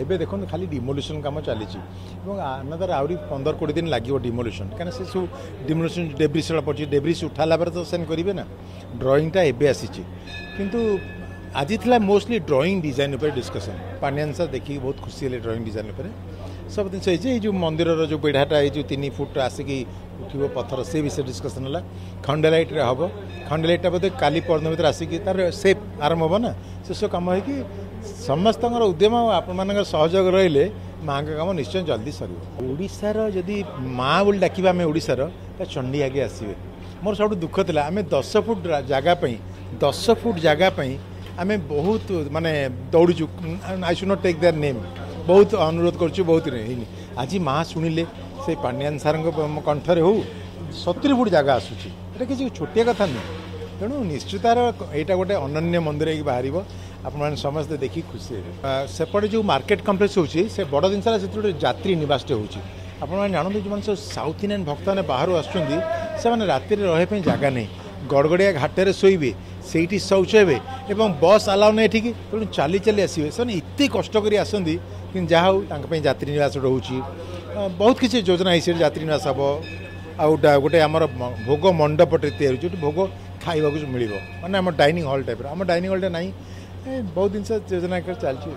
ଏବେ ଦେଖନ୍ତୁ, ଖାଲି ଡିମୋଲିସନ୍ କାମ ଚାଲିଛି ଏବଂ ଆନଦର ଆହୁରି 15 20 ଦିନ ଲାଗିବ ଡିମୋଲିସନ୍, କାହିଁକିନା ସେ ସବୁ ଡିମୋଲିସନ୍ ଡେବ୍ରିସ୍ ଗୁଡ଼ା ପଡ଼ିଛି। ଡେବ୍ରିସ୍ ଉଠାଲା ପରେ ତ ସେଣ୍ଡ କରିବେ ନା। ଡ୍ରଇଂଟା ଏବେ ଆସିଛି, କିନ୍ତୁ ଆଜି ଥିଲା ମୋଷ୍ଟଲି ଡ୍ରଇଂ ଡିଜାଇନ୍ ଉପରେ ଡିସ୍କସନ୍। ପାଣ୍ଡିଆନ ସାର୍ ଦେଖିକି ବହୁତ ଖୁସି ହେଲେ। ଡ୍ରଇଂ ଡିଜାଇନ୍ ଉପରେ ସବୁ ଜିନିଷ ହେଇଛି। ଏଇ ଯେଉଁ ମନ୍ଦିରର ଯେଉଁ ବେଢ଼ାଟା, ଏଇ ଯେଉଁ 3 ଫୁଟ ଆସିକି ଉଠିବ ପଥର, ସେ ବିଷୟରେ ଡିସ୍କସନ୍ ହେଲା। ଖଣ୍ଡେଲାଇଟ୍ରେ ହେବ, ଖଣ୍ଡେଲାଇଟ୍ଟା ବୋଧେ କାଲି ପରଦିନ ଭିତରେ ଆସିକି ତାର ସେପ୍ ଆରମ୍ଭ ହେବ ନା। ସେସବୁ କାମ ହେଇକି ସମସ୍ତଙ୍କର ଉଦ୍ୟମ ଆଉ ଆପଣମାନଙ୍କର ସହଯୋଗ ରହିଲେ ମାଆଙ୍କ କାମ ନିଶ୍ଚୟ ଜଲ୍ଦି ସରିବ। ଓଡ଼ିଶାର ଯଦି ମା' ବୋଲି ଡାକିବା ଆମେ ଓଡ଼ିଶାର, ତା ଚଣ୍ଡୀ ଆଗେ ଆସିବେ। ମୋର ସବୁଠୁ ଦୁଃଖ ଥିଲା, ଆମେ 10 ଫୁଟ ଜାଗା ପାଇଁ, 10 ଫୁଟ ଜାଗା ପାଇଁ ଆମେ ବହୁତ ମାନେ ଦୌଡ଼ିଛୁ। I should not take their name. ବହୁତ ଅନୁରୋଧ କରୁଛୁ, ବହୁତ ହେଇନି। ଆଜି ମା' ଶୁଣିଲେ, ସେ ପାଣ୍ଡିଆନ ସାର୍ଙ୍କ କଣ୍ଠରେ ହଉ, 70 ଫୁଟ ଜାଗା ଆସୁଛି। ଏଇଟା କିଛି ଛୋଟିଆ କଥା ନୁହେଁ। ତେଣୁ ନିଶ୍ଚିତ ଏଇଟା ଗୋଟେ ଅନନ୍ୟ ମନ୍ଦିର ହେଇକି ବାହାରିବ। ଆପଣମାନେ ସମସ୍ତେ ଦେଖି ଖୁସି ହେବେ। ସେପଟେ ଯେଉଁ ମାର୍କେଟ କମ୍ପ୍ଲେକ୍ସ ହେଉଛି, ସେ ବଡ଼ ଜିନିଷ ହେଲା ସେଥିରେ ଗୋଟେ ଯାତ୍ରୀ ନିବାସଟେ ହେଉଛି। ଆପଣମାନେ ଜାଣନ୍ତୁ, ଯେଉଁମାନେ ସବୁ ସାଉଥ୍ ଇଣ୍ଡିଆନ୍ ଭକ୍ତମାନେ ବାହାରୁ ଆସୁଛନ୍ତି, ସେମାନେ ରାତିରେ ରହିବା ପାଇଁ ଜାଗା ନାହିଁ। ଗଡ଼ଗଡ଼ିଆ ଘାଟରେ ଶୋଇବେ, ସେଇଠି ଶୌଚ ହେବେ ଏବଂ ବସ୍ ଆଲାଉ ନାହିଁ ଏଠିକି, ତେଣୁ ଚାଲି ଚାଲି ଆସିବେ। ସେମାନେ ଏତେ କଷ୍ଟ କରି ଆସନ୍ତି, କିନ୍ତୁ ଯାହା ହଉ ତାଙ୍କ ପାଇଁ ଯାତ୍ରୀ ନିବାସ ରହୁଛି। ବହୁତ କିଛି ଯୋଜନା ହେଇଛି। ସେଠି ଯାତ୍ରୀ ନିବାସ ହେବ ଆଉ ଗୋଟେ ଆମର ଭୋଗ ମଣ୍ଡପଟେ ତିଆରି ହେଉଛି, ଯେଉଁଠି ଭୋଗ ଖାଇବାକୁ ମିଳିବ, ମାନେ ଆମ ଡାଇନିଂ ହଲ୍ ଟାଇପ୍ର। ଆମ ଡାଇନିଂ ହଲ୍ଟା ନାହିଁ। ବହୁତ ଜିନିଷ ଯୋଜନା କରି ଚାଲିଛି।